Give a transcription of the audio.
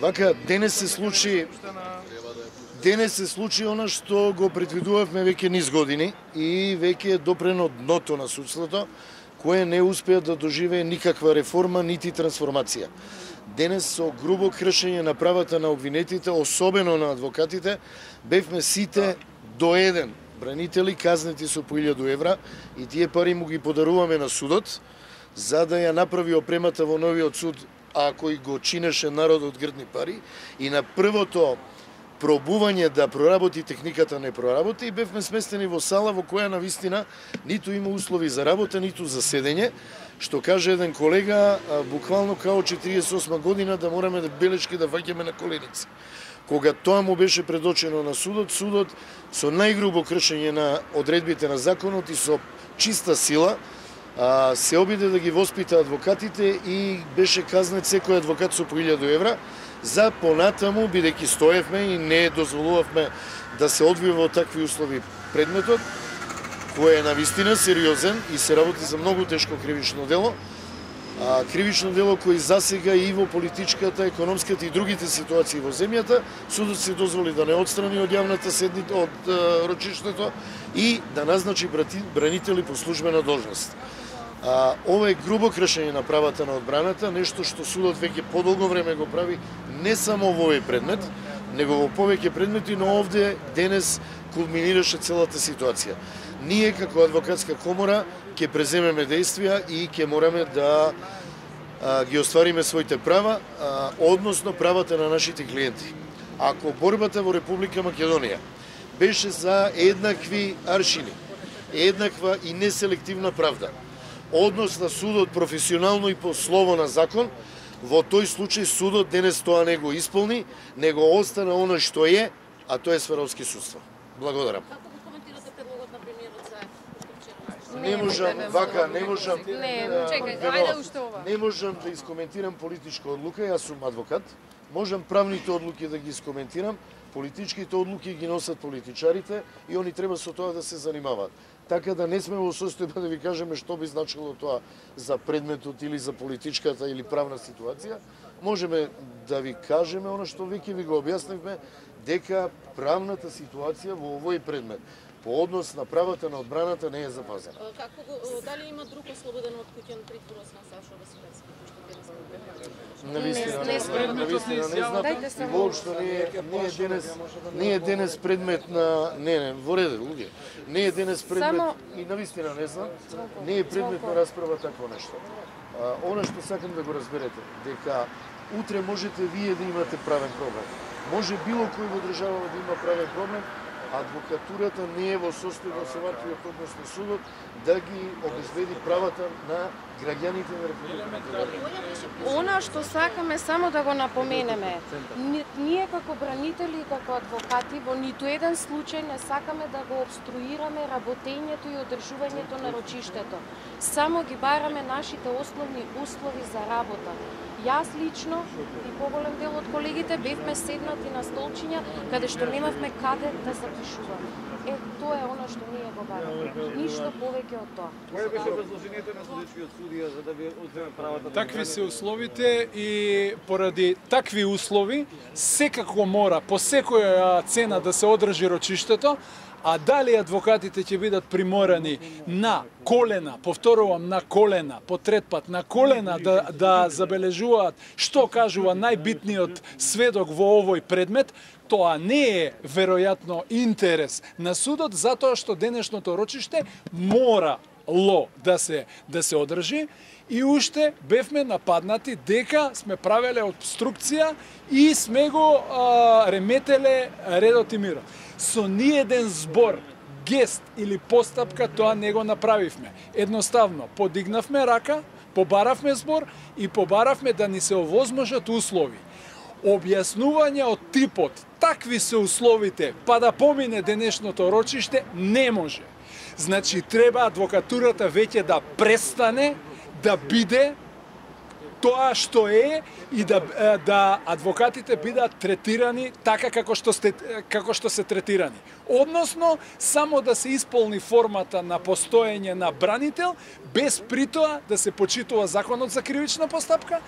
Вака, денес се случи она што го предвидувавме веќе низ години и веќе е допрено дното на судството, кое не успеа да доживее никаква реформа, нити трансформација. Денес со грубо кршење на правата на обвинетите, особено на адвокатите, бевме сите до еден бранители казнети со по 1000 евра и тие пари му ги подаруваме на судот, за да ја направи опремата во новиот суд, ако и го чинеше народот грдни пари, и на првото пробување да проработи техниката не проработи и бевме сместени во сала во која навистина ниту има услови за работа, ниту за седење, што каже еден колега, буквално као 48 година да мораме да белешки да ваѓаме на коленици. Кога тоа му беше предочено на судот, судот со најгрубо кршење на одредбите на законот и со чиста сила се обиде да ги воспита адвокатите и беше казнет секој адвокат со по 1000 евра за понатаму, бидејќи стоевме и не дозволувавме да се одвива во такви услови предметот, кој е навистина сериозен и се работи за многу тешко кривично дело. Кривично дело кој засега и во политичката, економската и другите ситуации во земјата, судот се дозволи да не отстрани од јавната седница, од рочиштето и да назначи бранители по службена должност. Ова е грубо кршење на правата на одбраната, нешто што судот веќе подолго време го прави не само во овој предмет, него во повеќе предмети, но овде денес кулминираше целата ситуација. Ние како адвокатска комора ќе преземеме действија и ќе мораме да ги оствариме своите права, односно правата на нашите клиенти. Ако борбата во Република Македонија беше за еднакви аршини, еднаква и неселективна правда, однос на судот професионално и по слово на закон, во тој случај судот денес тоа не го исполни, него остана оно што е, а тоа е Сваровски судство. Благодарам. Како го коментирате предлогот на премиерот за Не можам да искоментирам политичка одлука, јас сум адвокат. Можам правните одлуки да ги искоментирам, политичките одлуки ги носат политичарите и они треба со тоа да се занимаваат. Така да не сме во состојба да ви кажеме што би значило тоа за предметот или за политичката или правна ситуација. Можеме да ви кажеме она што веќе ви го објаснивме, дека правната ситуација во овој предмет по однос на правата на одбраната не е запазена. Дали има друг ослободен од куќен притвор освен Сашо Василевски? Навистина не знам и воопшто не е денес предмет на во ред, луѓе. Не е денес предмет и навистина не знам, не е предмет на расправа такво нешто. Она што сакам да го разберете, дека утре можете вие да имате правен проблем. Може било кој во државава да има правен проблем, адвокатурата не е во состојба со ваквиот однос на судот да ги обезбеди правата на граѓаните на Република Македонија. Она што сакаме само да го напоменеме, ние како бранители и како адвокати во ниту еден случај не сакаме да го обструираме работењето и одржувањето на рочиштето. Само ги бараме нашите основни услови за работа. Јас лично и поголем дел од колегите бевме седнати на столчиња каде што немавме каде да запишуваме. Тоа е она што ние го бараме. Ништо повеќе од тоа. Кое беше образложението на судечкиот судија за да ви одземе правата? Такви се условите и поради такви услови секако мора по секоја цена да се одржи рочиштето. А дали адвокатите ќе бидат приморани на колена, повторувам, на колена, по трет пат, на колена да забележуваат што кажува најбитниот сведок во овој предмет, тоа не е веројатно интерес на судот, затоа што денешното рочиште морало да се одржи и уште бевме нападнати дека сме правеле обструкција и сме го реметеле редот и мирот. Со ниеден збор, гест или постапка тоа не го направивме. Едноставно, подигнавме рака, побаравме збор и побаравме да ни се овозможат услови. Објаснување од типот, такви се условите, па да помине денешното рочиште, не може. Значи, треба адвокатурата веќе да престане да биде тоа што е и да адвокатите бидат третирани така како што се третирани. Односно, само да се исполни формата на постоење на бранител, без притоа да се почитува законот за кривична постапка.